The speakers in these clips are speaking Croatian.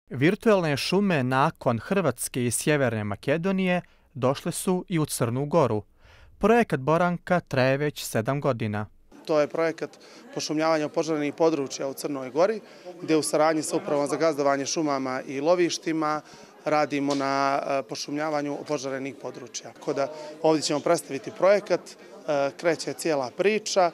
Virtualne šume nakon Hrvatske i Sjeverne Makedonije došle su i u Crnu Goru. Projekat Boranka traje već 7 godina. To je projekat pošumljavanja opožarenih područja u Crnoj Gori, gdje u saradnji sa Upravom za gazdovanje šumama i lovištima radimo na pošumljavanju opožarenih područja. Ovdje ćemo predstaviti projekat, kreće cijela priča,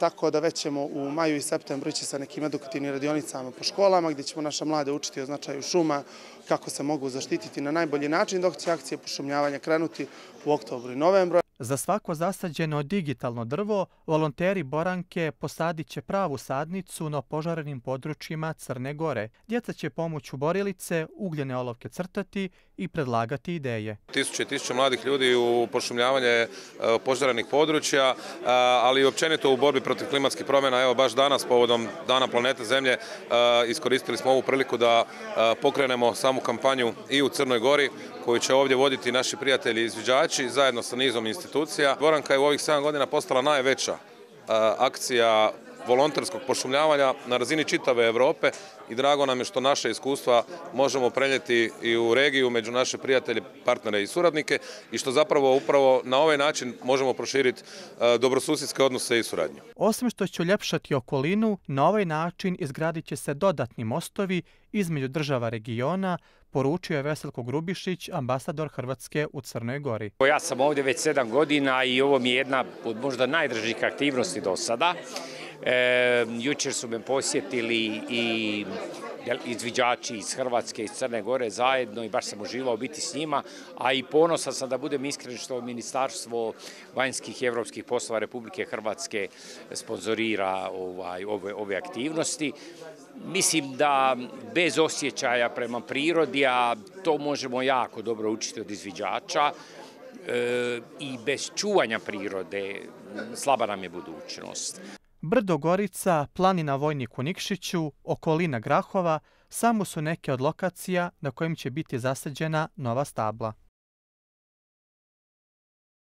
tako da već ćemo u maju i septembru ići sa nekim edukativnim radionicama po školama gdje ćemo naše mlade učiti o značaju šuma, kako se mogu zaštititi na najbolji način, dok će akcije pošumljavanja krenuti u oktobru i novembru. Za svako zasađeno digitalno drvo, volonteri Boranke posadit će pravu sadnicu na opožarenim područjima Crne Gore. Djeca će pomoću borilice ugljene olovke crtati i predlagati ideje. Tisuće i tisuće mladih ljudi u pošumljavanje opožarenih područja, ali i općenito u borbi protiv klimatskih promjena. Evo baš danas, povodom Dana planete Zemlje, iskoristili smo ovu priliku da pokrenemo samu kampanju i u Crnoj Gori, koju će ovdje voditi naši prijatelji izviđači zajedno sa nizom institucija. Boranka je u ovih 7 godina postala najveća akcija volonterskog pošumljavanja na razini čitave Europe i drago nam je što naše iskustva možemo prenijeti i u regiju među naše prijatelje, partnere i suradnike i što zapravo upravo na ovaj način možemo proširiti dobrosusjedske odnose i suradnju. Osim što će uljepšati okolinu, na ovaj način izgradit će se dodatni mostovi između država regiona, poručio je Veselko Grubišić, ambasador Hrvatske u Crnoj Gori. Ja sam ovdje već 7 godina i ovo mi je jedna od možda najdražih aktivnosti do sada. Jučer su me posjetili i izviđači iz Hrvatske i iz Crne Gore zajedno i baš sam uživao biti s njima, a i ponosan sam da budem iskren što Ministarstvo vanjskih i europskih poslova Republike Hrvatske sponzorira ove aktivnosti. Mislim da bez osjećaja prema prirodi, a to možemo jako dobro učiti od izviđača, i bez čuvanja prirode slaba nam je budućnost. Brdo Gorica, planina Vojnik u Nikšiću, okolina Grahova samo su neke od lokacija na kojim će biti zasađena nova stabla.